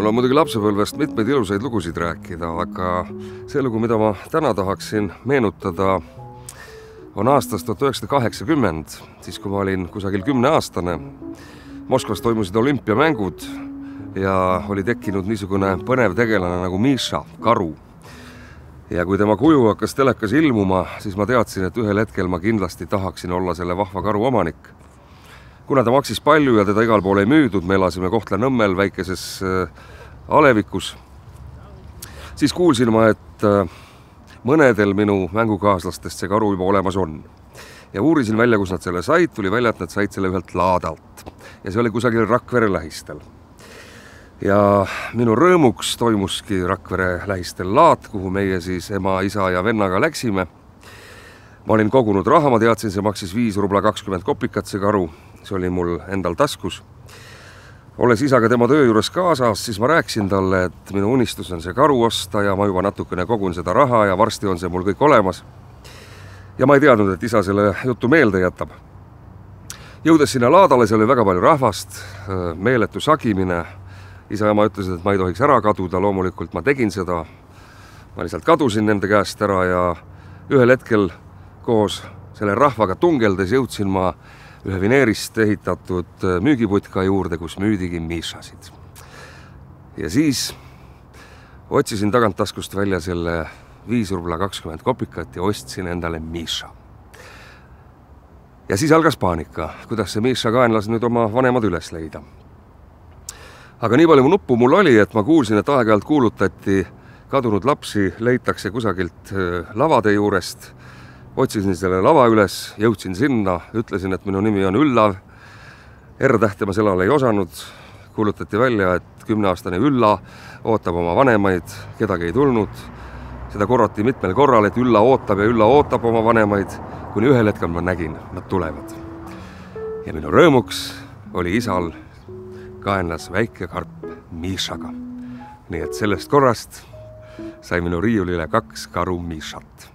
on muidugi lapsepõlvest mitmeid ilusaid lugusid rääkida, aga see lugu, mida ma täna tahaksin meenutada, on aastast 1980, siis kui ma olin kusagil 10-aastane. Moskvas toimusid olümpiamängud ja oli tekkinud niisugune põnev tegelane nagu Miša, karu. Ja kui tema kuju hakkas telekas ilmuma, siis ma teadsin, et ühel hetkel ma kindlasti tahaksin olla selle vahva karu omanik. Kuna ta maksis palju ja teda igal pool ei müüdud, me elasime Kohtla-Nõmmel väikeses alevikus, siis kuulsin ma, et mõnedel minu mängukaaslastest see karu juba olemas on. Ja uurisin välja, kus nad selle said, tuli välja, et nad said selle ühelt laadalt. Ja see oli kusagil Rakvere lähistel. Ja minu rõõmuks toimuski Rakvere lähistel laat, kuhu meie siis ema, isa ja vennaga läksime. Ma olin kogunud raha, ma teadsin, see maksis 5 rubla 20 kopikat see karu. See oli mul endal taskus. Olles isaga tema töö juures kaasas, siis ma rääkisin talle, et minu unistus on see karu osta ja ma juba natukene kogun seda raha ja varsti on see mul kõik olemas. Ja ma ei teadnud, et isa selle jutu meelde jätab. Jõudes sinna laadale, see oli väga palju rahvast, meeletu sagimine. Isa ja ma ütlesid, et ma ei tohiks ära kaduda, loomulikult ma tegin seda. Ma lihtsalt kadusin nende käest ära ja ühel hetkel koos selle rahvaga tungeldes jõudsin ma ühe vineerist ehitatud müügiputka juurde, kus müüdigi Mišasid. Ja siis otsisin tagant taskust välja selle 5 rubla 20 kopikat ja ostsin endale Miša. Ja siis algas paanika, kuidas see Miša kaenlas nüüd oma vanemad üles leida. Aga nii palju nuppu mul oli, et ma kuulsin, et aeg-ajalt kuulutati, kadunud lapsi leitakse kusagilt lavade juurest. Otsisin selle lava üles, jõudsin sinna, ütlesin, et minu nimi on Üllav. R-tähte ma sellal ei osanud. Kuulutati välja, et 10-aastane Ülla ootab oma vanemaid, kedagi ei tulnud. Seda korrati mitmel korral, et Ülla ootab ja Ülla ootab oma vanemaid, kuni ühel hetkel ma nägin, nad tulevad. Ja minu rõõmuks oli isal kaenlas väike karp Mišaga. Nii et sellest korrast sai minu riiulile 2 karu Mišat.